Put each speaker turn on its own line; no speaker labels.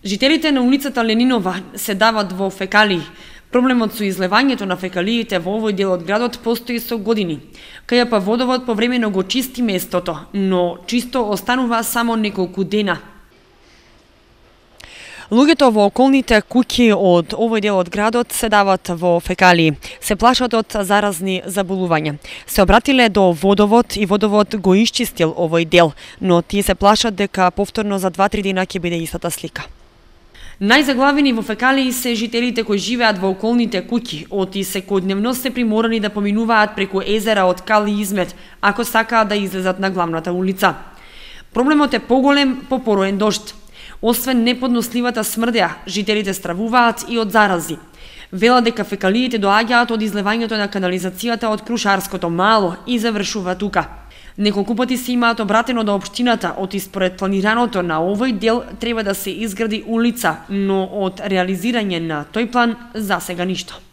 Жителите на улицата Ленинова се дават во фекалии. Проблемот со излевањето на фекалиите во овој дел од градот постои со години. КЈП Водовод повремено го чисти местото, но чисто останува само неколку дена. Луѓето во околните куќи од овој дел од градот се дават во фекалии. Се плашат од заразни заболувања. Се обратиле до Водовод и Водовод го исчистил овој дел, но тие се плашат дека повторно за 2-3 дена ќе биде истата слика. Најзаглавени во фекалии се жителите кои живеат во околните куќи, оти секојдневно се приморани да поминуваат преку езера од кал и измет, ако сакаат да излезат на главната улица. Проблемот е поголем по пороен дожд. Освен неподносливата смрдеа, жителите стравуваат и од зарази. Велат дека фекалиите доаѓаат од излевањето на канализацијата од Крушарското мало и завршува тука. Неколку пати се имаат обратено до општината, оти според планираното на овој дел треба да се изгради улица, но од реализирање на тој план засега ништо.